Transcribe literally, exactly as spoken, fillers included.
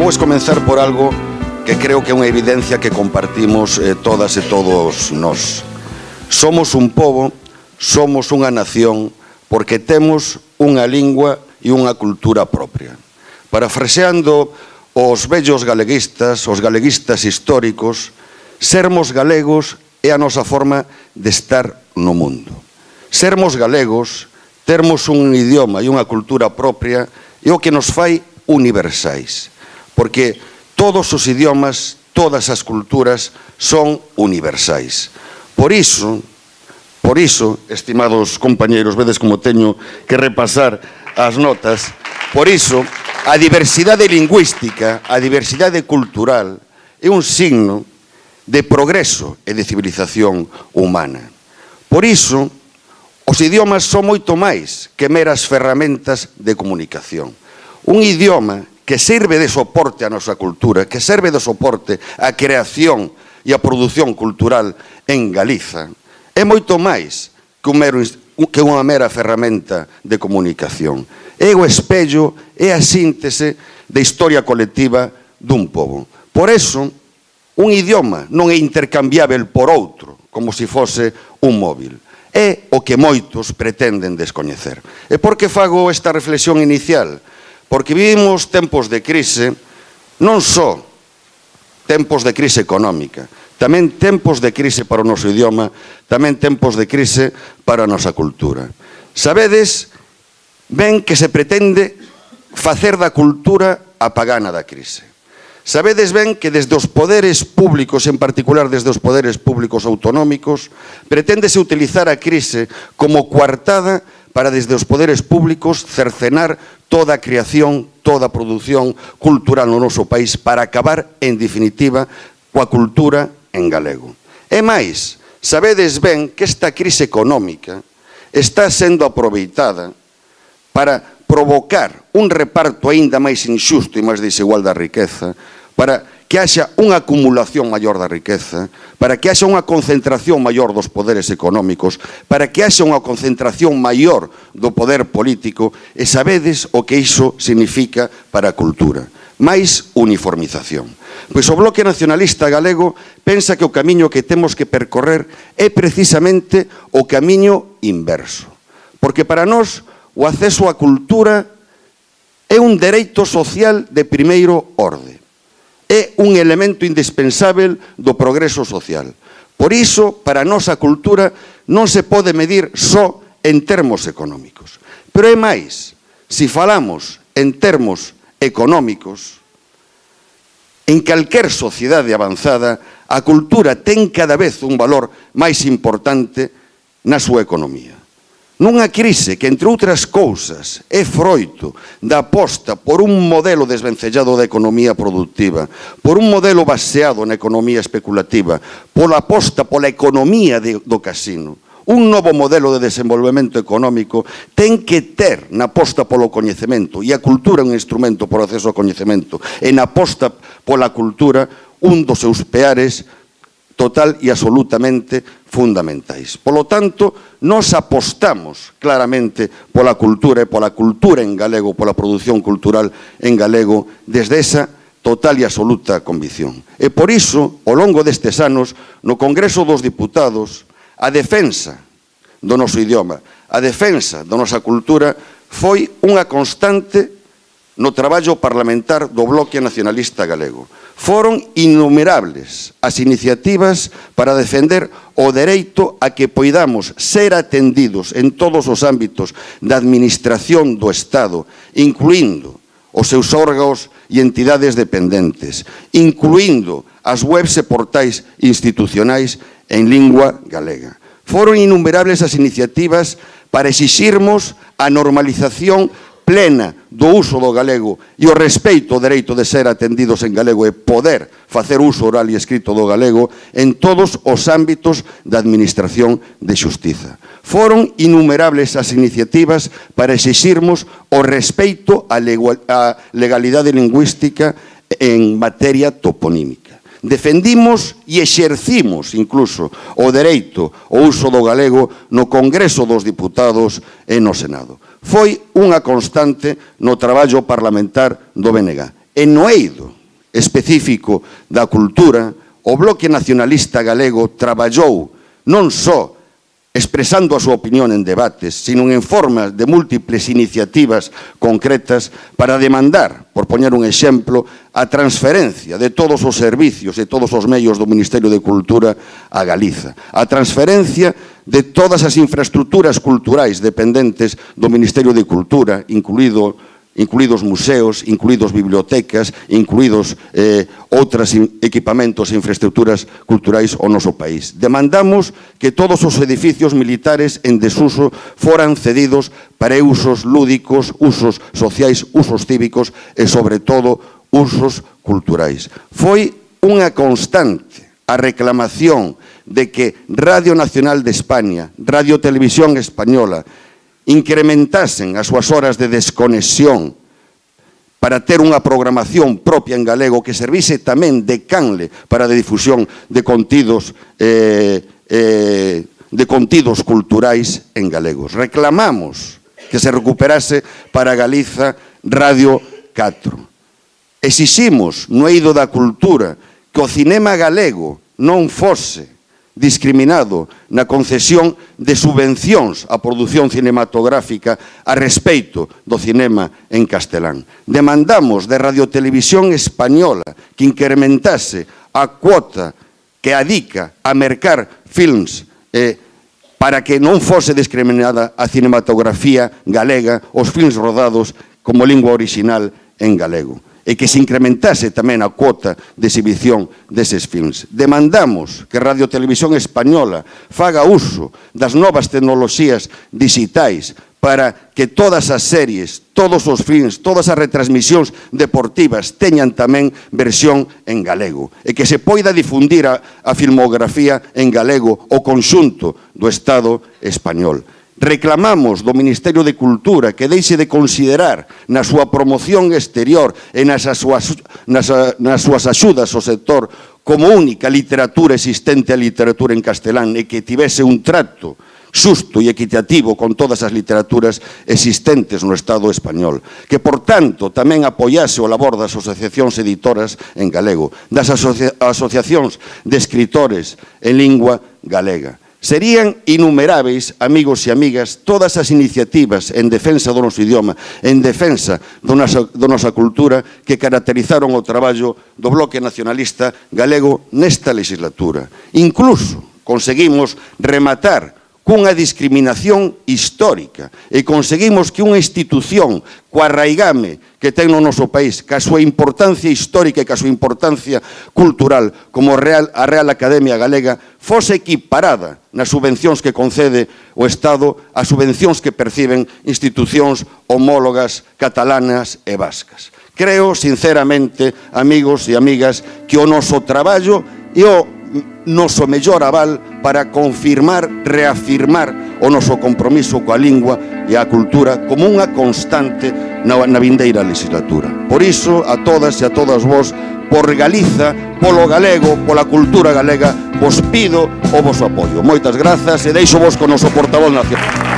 pois comenzar por algo que creo que é unha evidencia que compartimos eh, todas e todos nós. Somos un pobo, somos unha nación, porque temos unha lingua e unha cultura propia. Parafraseando os vellos galeguistas, os galeguistas históricos, sermos galegos é a nosa forma de estar no mundo. Sermos galegos, termos un idioma e unha cultura propia é o que nos fai universais, porque todos os idiomas, todas as culturas son universais. Por iso, por iso, estimados compañeiros, vedes como teño que repasar as notas, por iso, a diversidade lingüística, a diversidade cultural, é un signo de progreso e de civilización humana. Por iso, os idiomas son moito máis que meras ferramentas de comunicación. Un idioma que serve de soporte á nosa cultura, que serve de soporte á creación e á produción cultural en Galiza, é moito máis que, un mero, que unha mera ferramenta de comunicación. É o espello, é a síntese da historia colectiva dun pobo. Por eso, un idioma non é intercambiável por outro, como se fose un móvil. É o que moitos pretenden descoñecer. E por que fago esta reflexión inicial? Porque vivimos tempos de crise, non só tempos de crise económica, tamén tempos de crise para o noso idioma, tamén tempos de crise para a nosa cultura. Sabedes ben que se pretende facer da cultura a pagana da crise. Sabedes ben que desde os poderes públicos, en particular desde os poderes públicos autonómicos, preténdese utilizar a crise como coartada para desde os poderes públicos cercenar toda a creación, toda a produción cultural no noso país para acabar, en definitiva, coa cultura en galego. E máis, sabedes ben que esta crise económica está sendo aproveitada para provocar un reparto aínda máis inxusto e máis desigual da riqueza, para que haxa unha acumulación maior da riqueza, para que haxa unha concentración maior dos poderes económicos, para que haxa unha concentración maior do poder político, e sabedes o que iso significa para a cultura. Máis uniformización. Pois o Bloque Nacionalista Galego pensa que o camiño que temos que percorrer é precisamente o camiño inverso. Porque para nós o acceso á cultura é un dereito social de primeiro orde. É un elemento indispensável do progreso social. Por iso, para a nosa cultura non se pode medir só en termos económicos. Pero é máis, se falamos en termos económicos, en calquer sociedade avanzada, a cultura ten cada vez un valor máis importante na súa economía. Nunha crise que, entre outras cousas, é froito da aposta por un modelo desvencellado da economía productiva, por un modelo baseado na economía especulativa, pola aposta pola economía de, do casino, un novo modelo de desenvolvemento económico ten que ter na aposta polo coñecemento, e a cultura é un instrumento por acceso ao coñecemento, e na aposta pola cultura un dos seus peares total e absolutamente fundamentais. Polo tanto, nos apostamos claramente pola cultura e pola cultura en galego, pola produción cultural en galego, desde esa total e absoluta convicción. E por iso, ao longo destes anos, no Congreso dos Diputados, a defensa do noso idioma, a defensa da nosa cultura, foi unha constante no traballo parlamentar do Bloque Nacionalista Galego. Foron innumerables as iniciativas para defender o dereito a que poidamos ser atendidos en todos os ámbitos da administración do Estado, incluindo os seus órganos e entidades dependentes, incluindo as webs e portais institucionais en lingua galega. Foron innumerables as iniciativas para exixirmos a normalización plena do uso do galego e o respeito ao dereito de ser atendidos en galego e poder facer uso oral e escrito do galego en todos os ámbitos da administración de xustiza. Foron innumerables as iniciativas para exixirmos o respeito á legalidade lingüística en materia toponímica. Defendimos e exercimos incluso o dereito ao uso do galego no Congreso dos Diputados e no Senado. Foi unha constante no traballo parlamentar do B N G. E no eido específico da cultura, o Bloque Nacionalista Galego traballou non só expresando a súa opinión en debates, sino en forma de múltiples iniciativas concretas para demandar, por poñer un exemplo, a transferencia de todos os servicios e todos os medios do Ministerio de Cultura a Galiza, a transferencia de todas as infraestructuras culturais dependentes do Ministerio de Cultura, incluído incluídos museos, incluídos bibliotecas, incluídos eh, outros equipamentos e infraestructuras culturais ao noso país. Demandamos que todos os edificios militares en desuso foran cedidos para usos lúdicos, usos sociais, usos cívicos e, sobre todo, usos culturais. Foi unha constante a reclamación de que Radio Nacional de España, Radio Televisión Española, incrementasen as súas horas de desconexión para ter unha programación propia en galego que servise tamén de canle para a difusión de contidos eh, eh, de contidos culturais en galegos. Reclamamos que se recuperase para Galiza Radio catro. Exiximos no eido da cultura que o cinema galego non fose discriminado na concesión de subvencións á produción cinematográfica a respeito do cinema en castelán. Demandamos de Radiotelevisión Española que incrementase a cuota que adica a mercar films eh, para que non fose discriminada a cinematografía galega, os films rodados como lingua original en galego, e que se incrementase tamén a cuota de exhibición deses films. Demandamos que Radio Televisión Española faga uso das novas tecnoloxías digitais para que todas as series, todos os films, todas as retransmisións deportivas teñan tamén versión en galego e que se poida difundir a, a filmografía en galego o conxunto do Estado español. Reclamamos do Ministerio de Cultura que deixe de considerar na súa promoción exterior e nas súas, nas, nas súas axudas ao sector como única literatura existente a literatura en castelán e que tivese un trato xusto e equitativo con todas as literaturas existentes no Estado español, que, por tanto, tamén apoiase o labor das asociacións editoras en galego, das asocia asociacións de escritores en lingua galega. Serían innumeráveis, amigos e amigas, todas as iniciativas en defensa do noso idioma, en defensa da nosa, nosa cultura que caracterizaron o traballo do Bloque Nacionalista Galego nesta legislatura. Incluso conseguimos rematar cunha discriminación histórica e conseguimos que unha institución coa raigame que ten no noso país, ca súa importancia histórica e ca súa importancia cultural como Real, a Real Academia Galega fose equiparada nas subvencións que concede o Estado ás subvencións que perciben institucións homólogas catalanas e vascas. Creo, sinceramente, amigos e amigas, que o noso traballo e o noso mellor aval para confirmar, reafirmar o noso compromiso coa lingua e a cultura como unha constante na, na vindeira legislatura. Por iso, a todas e a todas vos, por Galiza, polo galego, pola cultura galega, vos pido o voso apoio. Moitas grazas e deixo vos con o noso portavoz nacional.